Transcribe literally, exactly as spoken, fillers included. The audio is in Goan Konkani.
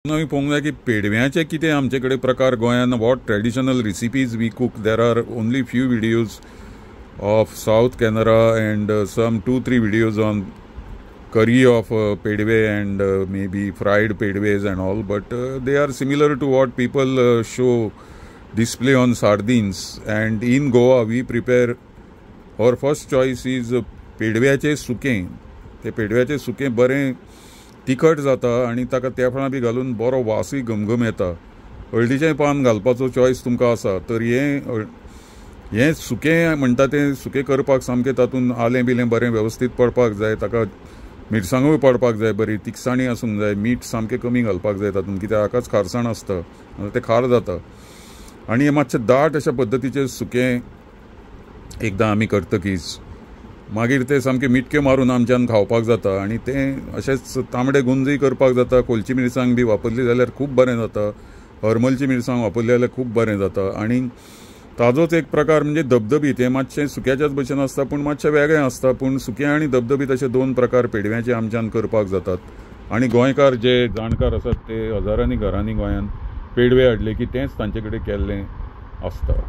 आमी पळोवंक जाय की पेडव्याचे कितें आमचे कडेन प्रकार गोंयांत, what traditional recipes we cook. There are only few videos of South Canara and some two three videos on curry of uh, pedve and uh, maybe fried pedves and all, but uh, they are similar to what people uh, show display on sardines. And in Goa we prepare, our first choice is पेडव्याचे सुकें. ते पेडव्याचें सुकें बरें तिखट जाता आनी ताका तेफळां बी घालून बरो वासूय घमघम येता. हळदीचें पान घालपाचो चॉयस तुमकां आसा तर हें हें सुकें म्हणटा तें सुकें करपाक सामकें तातूंत आलें बिलें बरें वेवस्थीत पडपाक जाय, ताका मिरसांगूय पडपाक जाय, बरी तिखसाणी आसूंक जाय, मीठ सामकें कमी घालपाक जाय तातूंत, कित्याक हाकाच खारसाण आसता, तें खार जाता. आनी हें मातशें दाट अशा पद्दतीचें सुकें एकदां आमी करतकीच मागीर तें सामकें मिटक्यो मारून आमच्यान खावपाक जाता. आनी तें अशेंच तांबडे गुंजूय करपाक जाता. कोलची मिरसांग बी वापरली जाल्यार खूब बरें जाता, हरमलची मिरसांग वापरली जाल्यार खूब बरें जाता. आनी ताजोच एक प्रकार म्हणजे धबधबीत. हें मातशें सुक्याच्याच भशेन आसता पूण मातशें वेगळें आसता. पूण सुकें आनी धबधबीत अशे दोन प्रकार पेडव्याचे आमच्यान करपाक जातात. आनी गोंयकार जे जाणकार आसात ते हजारांनी घरांनी गोंयांत पेडवे हाडले की तेंच तांचे कडेन केल्लें आसता.